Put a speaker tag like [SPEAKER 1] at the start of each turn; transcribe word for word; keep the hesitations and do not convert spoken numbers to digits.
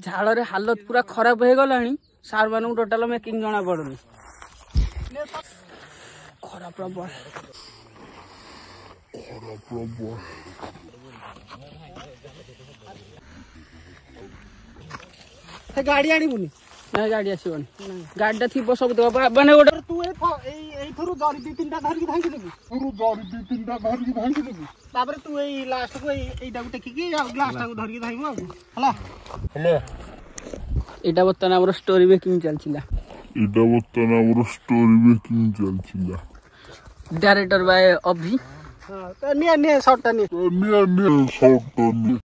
[SPEAKER 1] ଝାଳରେ ହାଲତ ପୁରା ଖରାପ ହେଇଗଲାଣି ସାର୍ ମାନଙ୍କୁ ଟୋଟାଲ ମେକିଂ ଜଣା ପଡୁନି ଖରା ପ୍ରବଳ
[SPEAKER 2] ଖରା ପ୍ରବଳ
[SPEAKER 3] ସେ ଗାଡି ଆଣିବୁନି
[SPEAKER 1] ନା ଗାଡି ଆସିବନି ଗାଡିଟା ଥିବ ସବୁ ମାନେ ଗୋଟେ
[SPEAKER 3] ତୁ ଏଇ ଏଇ ଏଇଥିରୁ ଜରି ଦି ତିନିଟା ଧରିକି ଭାଙ୍ଗି ଦେବୁ
[SPEAKER 2] ତୁ ଜରି ଦି ତିନିଟା ଧରିକି ଭାଙ୍ଗି ଦେବୁ
[SPEAKER 3] ତାପରେ ତୁ ଏଇ ଲାଷ୍ଟକୁ ଏଇ ଏଇଟାକୁ ଟେକିକି ଆଉ ଗ୍ଲାସଟାକୁ ଧରିକି ଧାଇବୁ ଆଉ ହେଲା
[SPEAKER 2] ହେଲା
[SPEAKER 1] ଏଇଟା ବର୍ତ୍ତମାନ ଆମର ଷ୍ଟୋରି ମେକିଂ ଚାଲିଥିଲା
[SPEAKER 2] ଏଇଟା ବର୍ତ୍ତମାନ ଆମର ଷ୍ଟୋରି ମେକିଂ ଚାଲିଥିଲା
[SPEAKER 1] ଡାଇରେକ୍ଟର ବାଏ ଅଭି
[SPEAKER 3] ହଁ ନିଏ ନିଏ ସର୍ଟଟା ନିଏ
[SPEAKER 2] ନିଏ ନିଏ ସର୍ଟଟା ନିଏ